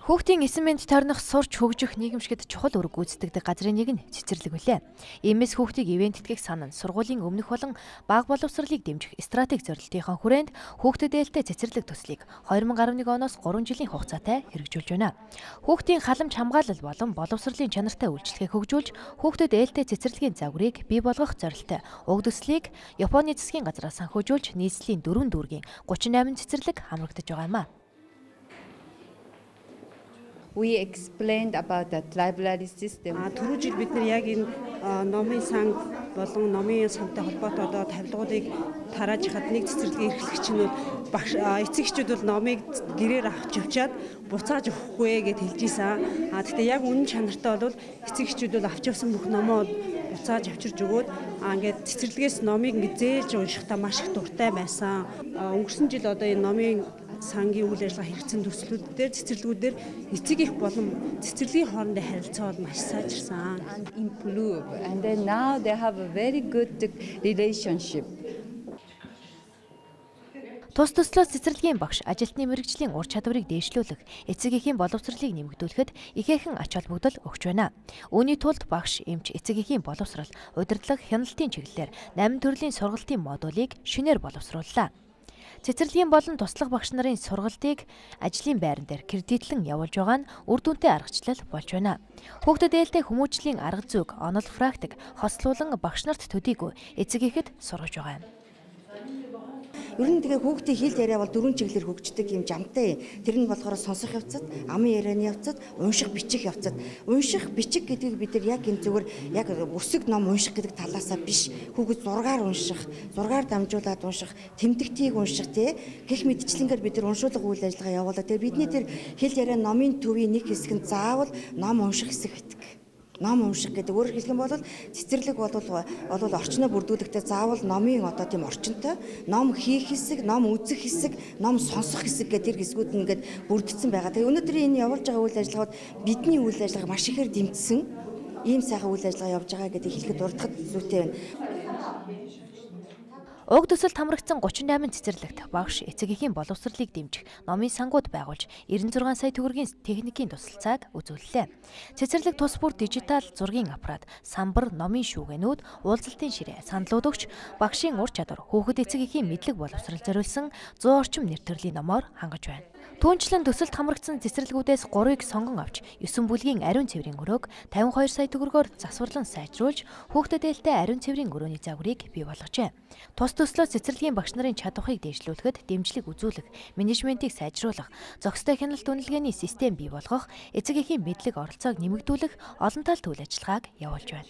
Хүүхдийн эсэн мэнд тойрнох сурч хөгжих нийгэмшигт чухал үүрэг гүйцэтгэдэг газрын нэг нь цэцэрлэг билээ. Иймээс хүүхдийг ивэнтэтгэх санаа нь сургуулийн өмнөх болон бага боловсролыг дэмжих стратеги зорилтынхаа хүрээнд хүүхдэд ээлтэй цэцэрлэг төслийг 2011 оноос 3 жилийн хугацаатай хэрэгжүүлж байна. Хүүхдийн халамж хамгаалал болон боловсролын чанартай үйлчлэгийг хөгжүүлж, хүүхдэд ээлтэй цэцэрлэгийн загварыг бий болгох зорилттой уг төслийг Японы засгийн газраас санхүүжүүлж нийслэлийн 4 дүүргийн 38 цэцэрлэг хамрагдаж байгаа юм а. We explained about that library system. Түрүү жил бид нар яг энэ номын сан болон номын сантай холбоотой тавилгуудыг тарааж хад нэг цэцэрлэгийн эрхлэгчнүүд багш эцэг эхчүүд бол номыг гэрээр авч явчаад буцааж өгөхгүй гэж хэлж ийсэн. Гэхдээ яг үнэн чанартай бол эцэг эхчүүд бол авч явсан бүх номоо буцааж авчирж өгөөд ингээд цэцэрлэгээс номыг ингээд зээлж уншихтаа маш их дуртай байсан. Өнгөрсөн жил одоо энэ номын сангийн үйл ажиллагаа хэрэгцсэн төслүүдээр цэцэрлэгүүдээр эцэг их болон цэцэрлэгийн хоорондын харилцаа бол маш сайжирсан. And improve. And then now they have a very good relationship. Тус төслөөс цэцэрлэгийн багш ажилтны мэргэжлийн ур чадварыг дээшлүүлэх, эцэг эхийн боловсролыг нэмэгдүүлэхэд ихээхэн ач холбогдол өгч байна. Үүний тулд багш, эмч, эцэг эхийн боловсрол, удирдлага, хяналтын чиглэлээр 8 төрлийн сургалтын модулийг шинээр боловсрууллаа. Цэцэрлэгийн болон туслах багш нарын сургалтыг ажлын байран дээр кредитлэн явуулж байгаа нь үр дүнтэй аргачлал болж байна. Хүүхдэд ээлтэй хүмүүжлийн арга зүйг, онол практик хослуулан багш нарт төдийгүй эцэг эхэд сургаж байгаа юм. Ер нь тэгээ хүүхдийн хэл яриа бол 4 чиглэлээр хөгждөг юм жамтай. Тэр нь болохоор сонсох явцад, амын ярианы явцад, унших бичих явцад. Унших бичих гэдгийг бид нар яг энэ зүгээр яг өсөг ном унших гэдэг талаасаа биш. Хүүхэд зургаар унших, зургаар дамжуулаад унших, тэмдэгтийг унших гэх мэтчлэнгээр бид нар уншуулга үйл ажиллагаа явуулаад тэгээ бидний тэр хэл яриа номын төвийн нэг хэсэг нь заавал ном унших хэсэг байдаг. Ном унших гэдэг өөрөөр хэлэх юм бол цэцэрлэг бол орчноо бүрдүүлэхдээ заавал номын тийм орчинтой ном хийх хэсэг, ном үзэх хэсэг, ном сонсох хэсэг гэдэг тэр хэсгүүд нь ингээд бүрдсэн байгаа. Тэгээ өнөөдөр энэ явуулж байгаа үйл ажиллагаанд бидний үйл ажиллагаа маш ихээр дэмжсэн ийм сайхан үйл ажиллагаа явж байгаа гэдэг хэлэхэд дурдхад зүйтэй байна. Уг төсөлд хамрагдсан 38 цэцэрлэгт багш, эцэг эхийн боловсролыг дэмжих номын сангууд байгуулж 96 сая төгрөгийн техникийн тусалцааг үзүүллээ. Цэцэрлэг тус бүр дижитал зургийн аппарат, самбар, номын шүүгэнүүд, уулзалтын ширээ, саналууд өгч багшийн ур чадвар, хүүхэд эцэг эхийн мэдлэг боловсрол зориулсан 100 орчим нэр төрлийн номоор хангаж байна. Түүнчлэн төсөлд хамрагдсан цэцэрлэгүүдээс 3-ыг сонгон авч 9 бүлгийн ариун цэврийн өрөөг 52 сая төгрөгөөр засварлан сайжруулж хүүхдэд ээлтэй ариун цэврийн өрөөний загварыг бий болгожээ. Тус төслөөс цэцэрлэгийн багш нарын чадварыг дээшлүүлэхэд дэмжлэг үзүүлэх, менежментийг сайжруулах, зохистой хяналт үнэлгээний систем бий болгох, эцэг эхийн мэдлэг оролцоог нэмэгдүүлэх олон талт үйл ажиллагааг явуулж байна.